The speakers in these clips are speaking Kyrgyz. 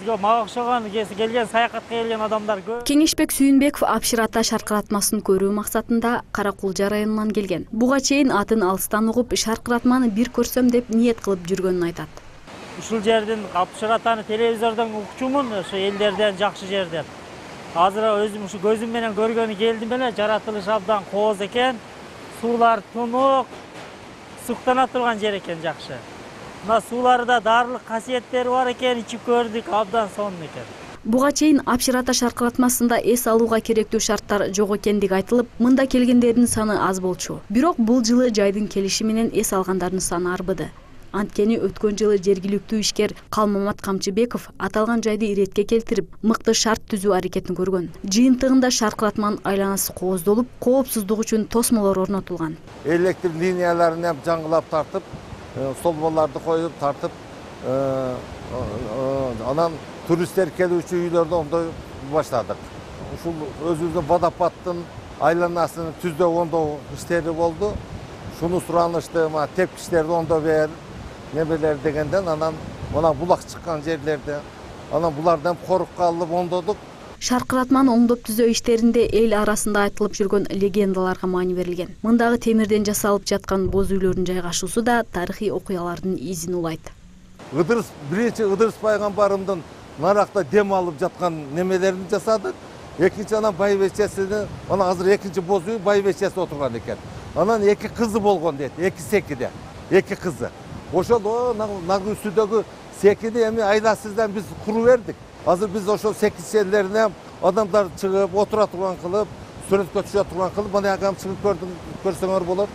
Жок, мага окшогон келген саякатка келген адамдар көп. Кеңешбек Сүйүнбеков Абшир ата шаркыратмасын көрүү максатында Каракулжа районунан келген. Буга чейин атын алыстан угуп, шаркыратманы бир көрсөм деп ниет кылып жүргөнүн айтат. Ушул жердин Абшир атаны телевизордон укчумун, ошо элдерден жакшы жерден. Азыр өзүм ушу көзүм менен көргөнү келдим эле, жаратылыш абдан кооз экен. Суулар тунук, суктана турган жер экен, жакшы. Мына сууларда даарылык касиеттери бар экен, ичип көрдүк, абдан сонун экен. Буга чейин Абшир ата шаркыратмасында эс алууга керектүү шарттар жок экендиги айтылып, мында келгендердин саны аз болчу. Бирок бул жылы жайдын келиши менен эс алгандардын саны арбыды. Анткени өткөн жылы жергиликтүү ишкер Калмамат Камчыбеков аталган жайды иретке келтирип, мыкты шарт түзүү аракетин көргөн. Жыйынтыгында шаркыратманын айланасы кооздолуп, коопсуздук үчүн тосмолор орнотулган. Электр линияларын жаңгылап тартып, столболорду коюп тартып, анан туристтер келүүчү үйлөрдө ондой баштадык. Ушул өзүбүздүн водопадтын айланасын түздөө ондоо иштери болду. Шуну суранышты, тепкичтерди ондоо бер, немелер дегенден анан мына булак чыккан жерлерде анан булардан коруп калып ондодук. Шаркыратманы оңдоп түзөө иштеринде эл арасында айтылып жүргөн легендаларга маани берилген. Мындагы темирден жасалып жаткан боз үйлөрдүн жайгашуусу да тарыхый окуялардын изин улайт. Биринчи Ыдырыс пайгамбарымдын наракта дем алып жаткан немелерин жасадык. Экинчи анан байбечесини, анан азыр экинчи боз үй байбечеси отурган экен. Анан эки кызы болгон дейт, эки секиде, эки кызы. Ошол нагы үстүдөгү секини эми айласыздан биз куру бердик. Азыр биз ошол секичелерине адамдар чыгып, отура турган кылып, сүрөткө түшө турган кылып, мына агам чыгып көрсөңөр болот.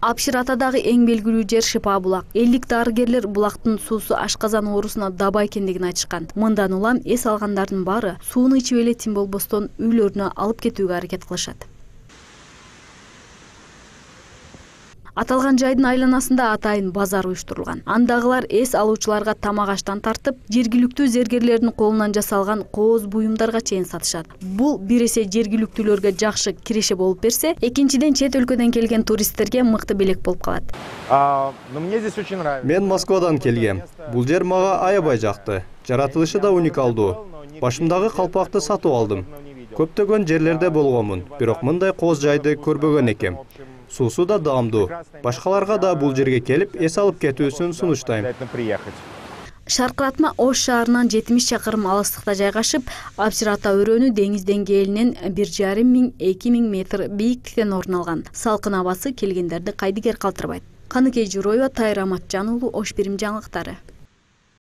Абшир атадагы эң белгилүү жер Шипа булак. Элдик дарыгерлер булактын суусу ашказан оорусуна даба экендигин айтышкан. Мындан улам эс алгандардын баары сууну ичип эле тим болбостон үйлөрүнө алып кетүүгө аракет кылышат. Аталган жайдын айланасында атайын базар уюштурулган. Андагылар эс алуучуларга тамак аштан тартып, жергиликтүү зергерлердин колунан жасалган кооз буюмдарга чейин сатышат. Бул бир эсе жергиликтүүлөргө жакшы киреше болуп берсе, экинчиден чет өлкөдөн келген туристтерге мыкты белек болуп калат. Мен Москвадан келгем. Бул жер мага аябай жакты. Жаратылышы да уникалдуу. Башымдагы калпакты сатып алдым. Көптөгөн жерлерде болгонмун, бирок мындай кооз жайды көрбөгөн экем. Суусу да даамдуу. Башкаларга да бул жерге келип эс алып кетүүсүн сунуштайм. Шаркыратма Ош шаарынан 70 чакырым алыстыкта жайгашып, Абшир ата өрөөнү деңиз деңгээлинен 1,5–2,000 метр бийиктиктен орун алган. Салкын абасы келгендерди кайдыгер калтырбайт. Каныкей Журоева, Тайыр Аматжан уулу, Ош Бирим жаңылыктары.